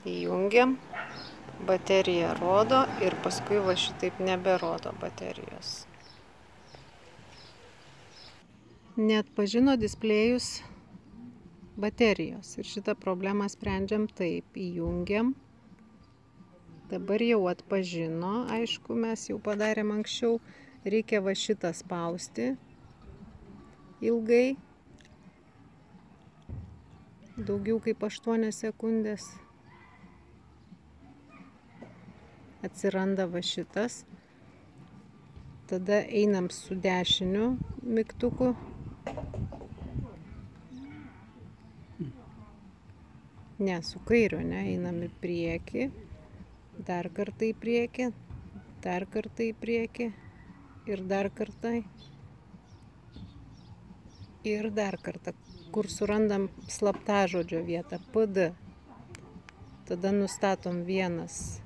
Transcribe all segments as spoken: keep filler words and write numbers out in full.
Įjungiam, baterija rodo ir paskui va šitaip neberodo baterijos. Neatpažino displėjus baterijos ir šitą problemą sprendžiam taip. Įjungiam. Dabar jau atpažino, aišku, mes jau padarėm anksčiau. Reikia va šitą spausti ilgai. Daugiau kaip aštuonias sekundės. Atsiranda va šitas. Tada einam su dešiniu mygtuku. Ne, su kairiu, ne, einam į priekį. Dar kartą į priekį. Dar kartą į priekį. Ir dar kartą. Ir dar kartą. Kur surandam slaptažodžio vietą. P D. Tada nustatom vienas.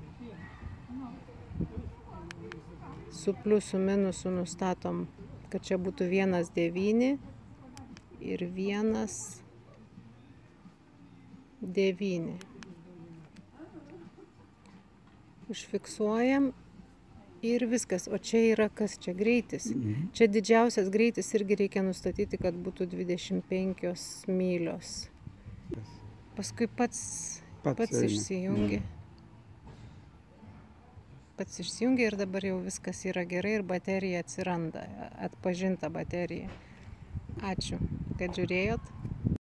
Su pliusu minusu nustatom, kad čia būtų vienas devyni ir vienas devyni. Užfiksuojam ir viskas. O čia yra kas? Čia greitis. Mhm. Čia didžiausias greitis irgi reikia nustatyti, kad būtų dvidešimt penkios mylios. Paskui pats, Pats pats eina. išsijungi. Pats išsijungia ir dabar jau viskas yra gerai ir baterija atsiranda, atpažinta baterija. Ačiū, kad žiūrėjot.